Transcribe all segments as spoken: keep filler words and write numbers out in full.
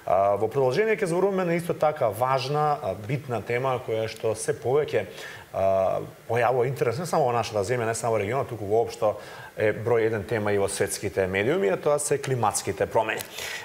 Во продолжение ќе зборуваме на исто така важна, битна тема која што се повеќе појавува интерес не само во нашата земја, не само во регионот, туку воопшто е број еден тема и во светските медиуми, а тоа се климатските промени.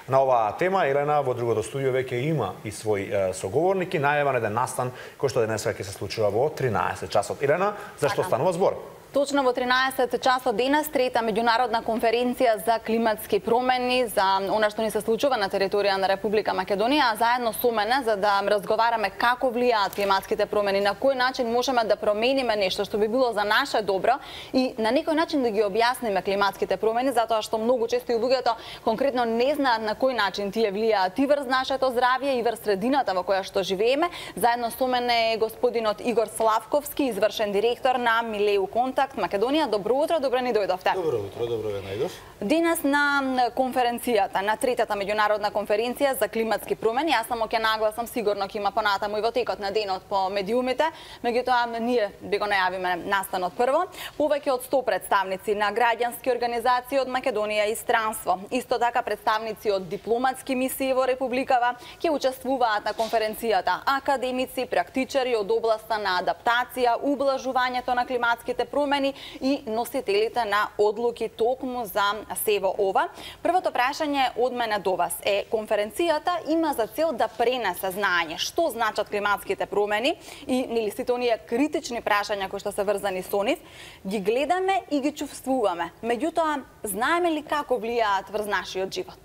На оваа тема Елена во другото студио веќе има и свој соговорник и најава на еден настан кој што денеска ќе се случува во тринаесет часот. Елена, зашто станува збор? Точно во тринаесет часот денес трета меѓународна конференција за климатски промени, за она што ни се случува на територија на Република Македонија, а заедно со мене за да разговараме како влијаат климатските промени, на кој начин можеме да промениме нешто што би било за наше добро и на некој начин да ги објасниме климатските промени, затоа што многу често и луѓето конкретно не знаат на кој начин тие влијаат и врз нашето здравје и врз средината во која што живееме. Заедно со мене е господинот Игор Славковски, извршен директор на Милеу Контакт Македонија. Добро утро, добро ни дојдовте. Добро утро, добро ве најдов. Денес на конференцијата, на третата меѓународна конференција за климатски промени, јас само ќе нагласам, сигурно ќе има понатаму и во текот на денот по медиумите, меѓутоа ние би го најавиме настанот прво. Повеќе од сто представници на граѓански организации од Македонија и странство, исто така представници од дипломатски мисии во Републикава ќе учествуваат на конференцијата, академици, практичари од областа на адаптација, ублажувањето на климатските промени и носителите на одлуки токму за се во ова. Првото прашање од мене до вас е: конференцијата има за цел да пренесе знаење што значат климатските промени и нели сите оние критични прашања кои што се врзани со нив, ги гледаме и ги чувствуваме. Меѓутоа, знаеме ли како влијаат врз нашиот живот?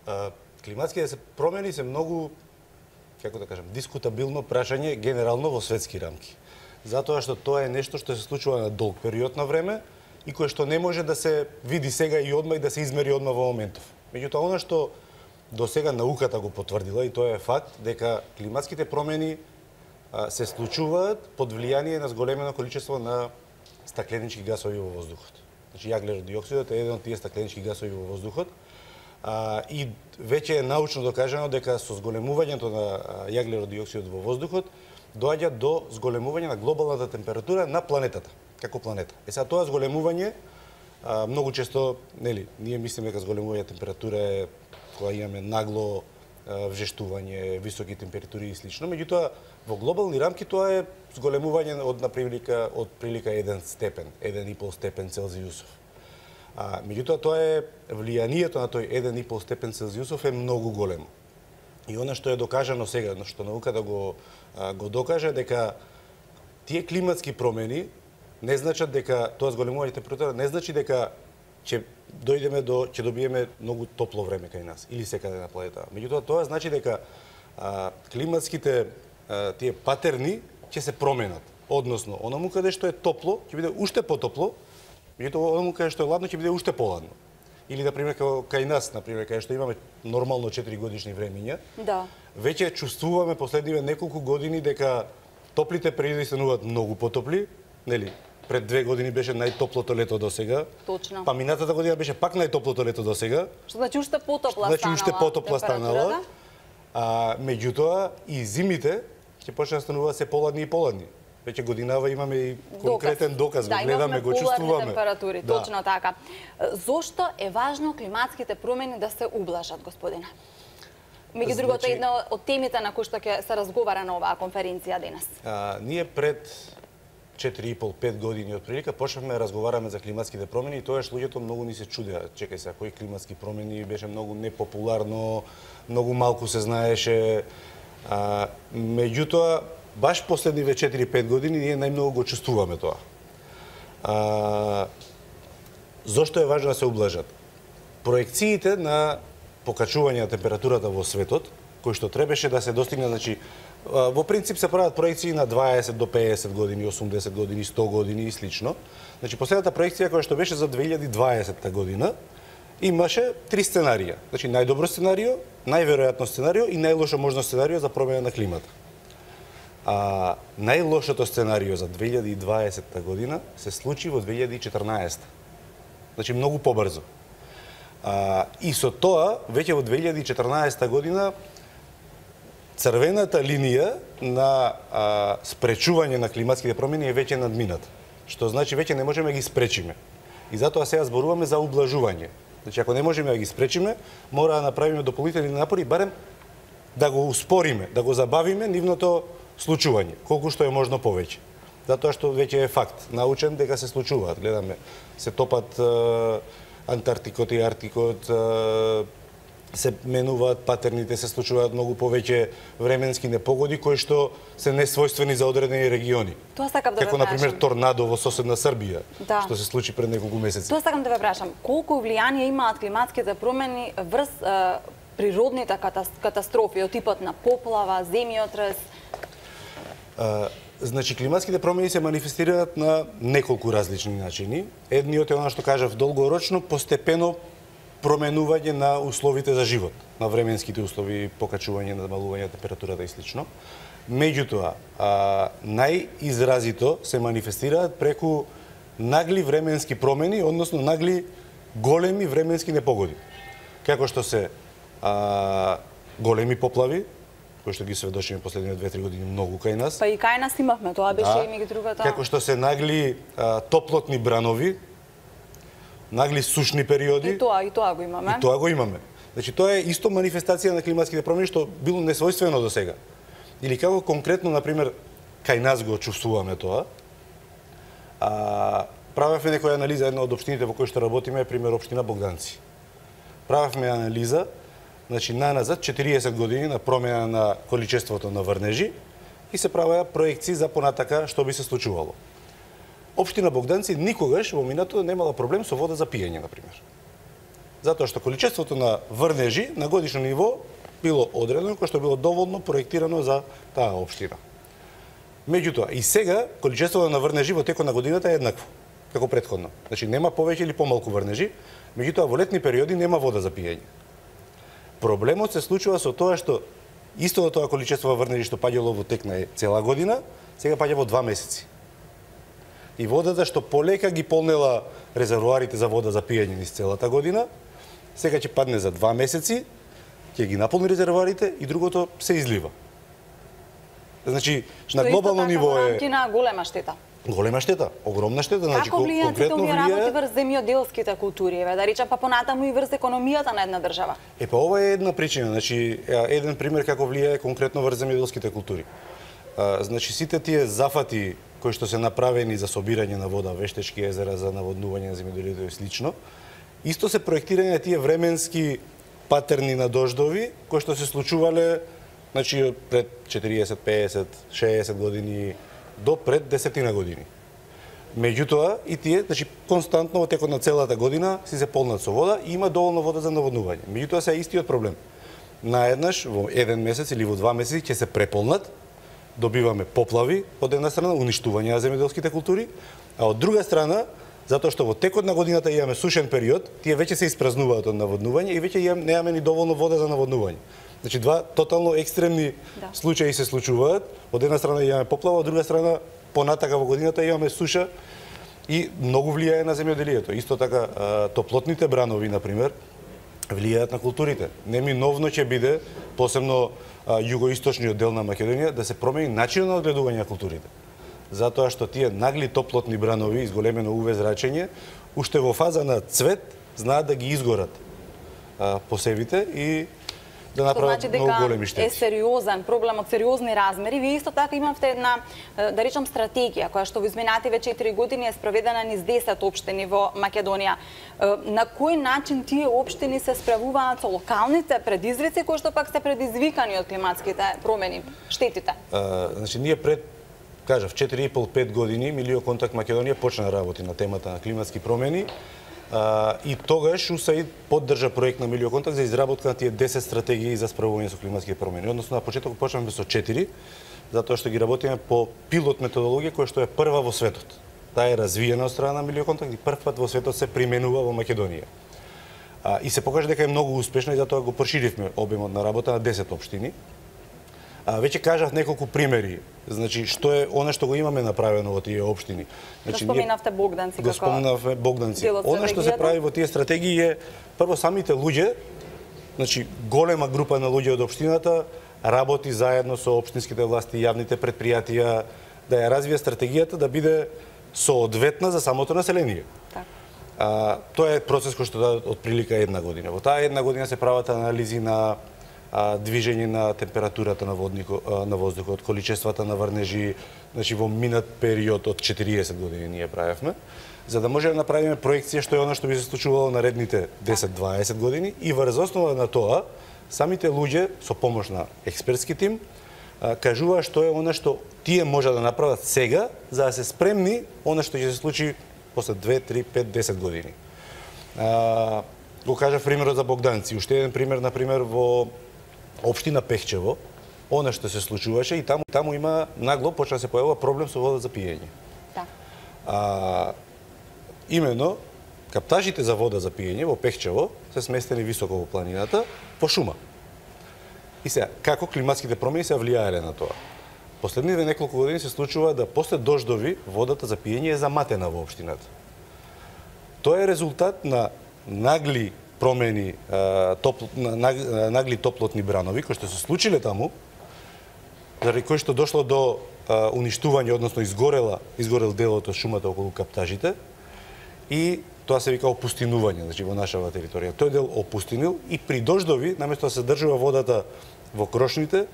А, климатските промени се многу, како да кажам, дискутабилно прашање генерално во светски рамки. Затоа што тоа е нешто што се случува на долг период на време и кое што не може да се види сега и одма и да се измери одма во моментов. Меѓутоа, она што до сега науката го потврдила, и тоа е факт, дека климатските промени а, се случуваат под влијание на зголемено количество на стакленички гасови во воздухот. Значи, јаглеродиоксидот е еден од тие стакленички гасови во воздухот. А, и веќе е научно докажано дека со зголемувањето на јаглеродиоксидот во воздухот доаѓа до зголемување на глобалната температура на планетата, како планета. Е сега тоа зголемување, а, многу често, нели, ние мислиме дека зголемување температура е кога имаме нагло а, вжештување, високи температури и слично, меѓутоа во глобални рамки тоа е зголемување од на прилика од прилика еден степен, еден и пол степен Целзиусов. А, меѓутоа тоа е влијанието на тој еден и пол степен Целзиусов е многу големо. И она што е докажано сега, што науката го го докаже, дека тие климатски промени не значат дека тоа зголемување температура не значи дека ќе дојдеме до ќе добиеме многу топло време кај нас или секаде на планетата. Меѓутоа тоа значи дека а, климатските а, тие патерни ќе се променат. Односно, онаму каде што е топло ќе биде уште потопло, меѓутоа онаму каде што е ладно ќе биде уште поладно. Или, например, кај нас, например, кај што имаме нормално четири годишни времиња, да. Веќе чувствуваме последниве неколку години дека топлите периоди стануваат многу потопли, нели? Пред две години беше најтоплото лето до сега. Точно. Па минатата година беше пак најтоплото лето до сега. Што значи уште потопла значи, станала. уште потопла станала. А меѓутоа и зимите ќе почнат да стануваат се поладни и поладни. Веќе годинава имаме и конкретен доказ, да, го гледаме, го чувствуваме. Температури, да. Точно така. Зошто е важно климатските промени да се ублажат, господине? Меѓу значи, другото, една од темите на кои што ќе се разговара на оваа конференција денес. А, ние пред четири и пол до пет години од прилика почнавме да разговараме за климатските промени и тоаш луѓето многу ни се чудеа. Чекај се, кои климатски промени, беше многу непопуларно, многу малку се знаеше. А, меѓутоа, баш последниве четири до пет години ние најмногу го чувствуваме тоа. А, зошто е важно да се ублажат? Проекциите на покачување на температурата во светот, кои што требаше да се достигне, значи, во принцип се прават проекции на дваесет до пеесет години, осумдесет години, сто години и слично. Значи, последната проекција која што беше за две илјади и дваесетта година, имаше три сценарија. Значи, најдобро сценарио, најверојатно сценарио и најлошо можно сценарио за промена на климата. А најлошото сценарио за две илјади и дваесетта година се случи во две илјади и четрнаесетта. Значи, многу побрзо. А, и со тоа, веќе во две илјади и четрнаесетта година, црвената линија на а, спречување на климатските промени е веќе надмината. Што значи веќе не можеме ги спречиме. И затоа сега зборуваме за ублажување. Значи, ако не можеме да ги спречиме, мора да направиме дополнителни напори, барем да го успориме, да го забавиме нивното случување, колку што е можно повеќе. Затоа што веќе е факт, научен дека се случуваат. Гледаме, се топат е, Антарктикот и Арктикот, е, се менуваат патерните, се случуваат многу повеќе временски непогоди кои што се несвојствени за одредени региони. Тоа сакам да ве Како, например, торнадо во соседна Србија, да. што се случи пред неколку месеци. Тоа сакам да ве прашам, колку влијание имаат климатските промени врз е, природните катастрофи од типот на поплава, земјотрес? А, значи, климатските промени се манифестираат на неколку различни начини. Едниот е она што кажав долгорочно, постепено променување на условите за живот, на временските услови, покачување, намалување на температурата и слично. Меѓутоа, а, најизразито се манифестираат преку нагли временски промени, односно нагли големи временски непогоди. Како што се а, големи поплави, кои што ги сведочиме последните две-три години многу кај нас. Па и кај нас имавме, тоа беше да, и меѓу другото. Како што се нагли а, топлотни бранови, нагли сушни периоди. И тоа, и тоа го имаме. И тоа го имаме. Значи, тоа е исто манифестација на климатските промени што било несвојствено до сега. Или како конкретно, например, кај нас го чувствуваме тоа. А, правевме некоја анализа, една од општините во кои што работиме е пример општина Богданци. Правевме анализа, значи наназад четириесет години на промена на количеството на врнежи и се правеа проекции за понатака што би се случувало. Општина Богданци никогаш во минатото немала проблем со вода за пиење, например. Затоа што количеството на врнежи на годишно ниво било одредено, кој што било доволно проектирано за таа општина. Меѓутоа, и сега количеството на врнежи во текот на годината е еднакво, како претходно. Значи, нема повеќе или помалку врнежи, меѓутоа во летни периоди нема вода за пиење. Проблемот се случува со тоа што истото тоа количество врнежи што паѓало во тек на цела година, сега паѓа во два месеци. И водата што полека ги полнела резервоарите за вода за пиење низ целата година, сега ќе падне за два месеци, ќе ги наполни резервоарите и другото се излива. Значи, што на глобално така ниво е на голема штета. Голема штета, огромна штета, значи Како влијаат сите конкретно овие работи влијае. врз земјоделските култури, еве, да речем па понатаму и врз економијата на една држава? Е, па ова е една причина, значи еден пример како влијае конкретно врз земјоделските култури. А, значи сите тие зафати кои што се направени за собирање на вода, вештечки езера за наводнување на земјоделието и слично, исто се проектирање на тие временски патерни на дождови кои што се случувале, значи пред четириесет, пеесет, шеесет години до пред десетина години. Меѓутоа и тие, значи константно во текот на целата година си се полнат со вода и има доволно вода за наводнување. Меѓутоа се е истиот проблем. Наеднаш во еден месец или во два месеци ќе се преполнат, добиваме поплави од една страна, уништување на земјоделските култури, а од друга страна, затоа што во текот на годината имаме сушен период, тие веќе се испразнуваат од наводнување и веќе немаме ни доволно вода за наводнување. Значи два тотално екстремни да. случаи се случуваат. Од една страна имаме поплава, од друга страна понатака во годината имаме суша и многу влијае на земјоделието. Исто така топлотните бранови, например, влијаат на културите. Неминовно ќе биде, посебно југоисточниот дел на Македонија, да се промени начинот на одгледување на културите. Затоа што тие нагли топлотни бранови, изголемено УВ зрачење, уште во фаза на цвет, знаат да ги изгорат а, посевите и да направат значи многу големи штети. Е сериозен проблем од сериозни размери. Вие исто така имавте една, да речам, стратегија која што во изминативе четири години е спроведена низ десет општини во Македонија. На кој начин тие општини се справуваат со локалните предизвици кои што пак се предизвикани од климатските промени, штетите? А, значи ние пред кажав четири и пол до пет години Милиоконтакт Македонија почна да работи на темата на климатски промени. Uh, и тогаш УСАИД поддржа проект на Милиоконтакт за изработка на тие десет стратегии за справување со климатски промени. Односно на почеток почнавме со четири, затоа што ги работиме по пилот методологија која што е прва во светот. Таа е развиена од страна на Милиоконтакт и прв пат во светот се применува во Македонија. Uh, и се покажа дека е многу успешна и затоа го проширивме обемот на работа на десет општини. А, веќе кажав неколку примери, значи што е она што го имаме направено во тие општини. Значи го споменавте Богданци како. Го споменавме Богданци. Она што се прави во тие стратегии е прво самите луѓе, значи голема група на луѓе од општината работи заедно со општинските власти, јавните предпријатија да ја развие стратегијата да биде соодветна за самото население. Так. А, тоа е процес кој што да отприлика една година. Во таа една година се прават анализи на а, движење на температурата на воднико, а, на воздухот, количествата на врнежи, значи во минат период од четириесет години ние правевме, за да може да направиме проекција што е она што би се случувало наредните десет-дваесет години и врз основа на тоа самите луѓе со помош на експертски тим кажува што е она што тие може да направат сега за да се спремни она што ќе се случи после две, три, пет, десет години. А, го кажа примерот за Богданци. Уште еден пример, например, во општина Пехчево, она што се случуваше и таму таму има нагло почна да се појавува проблем со вода за пиење. Да. А, именно каптажите за вода за пиење во Пехчево се сместени високо во планината по шума. И сега, како климатските промени се влијаеле на тоа? Последните неколку години се случува да после дождови водата за пиење е заматена во општината. Тоа е резултат на нагли промени, топ, нагли топлотни бранови кои што се случиле таму, заради кои што дошло до уништување, односно изгорела, изгорел делот од шумата околу каптажите и тоа се вика опустинување, значи во нашава територија. Тој дел опустинил и при дождови, наместо да се држува водата во крошните,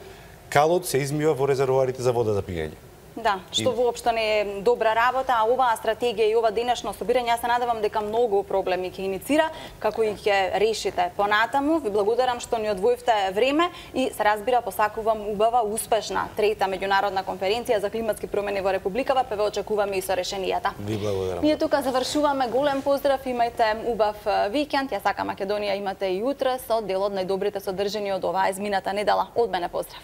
калот се измива во резервоарите за вода за пиење. Да, што воопшто не е добра работа, а оваа стратегија и ова денешно собирање, јас се надевам дека многу проблеми ќе иницира, како и ќе решите понатаму. Ви благодарам што ни одвоивте време и се разбира посакувам убава, успешна трета меѓународна конференција за климатски промени во Републикава, па ве очекуваме и со решенијата. Ви благодарам. Ние тука завршуваме. Голем поздрав, имајте убав викенд. Ја сакам Македонија имате и утре со дел од најдобрите содржини од оваа измината недела. Од мене поздрав.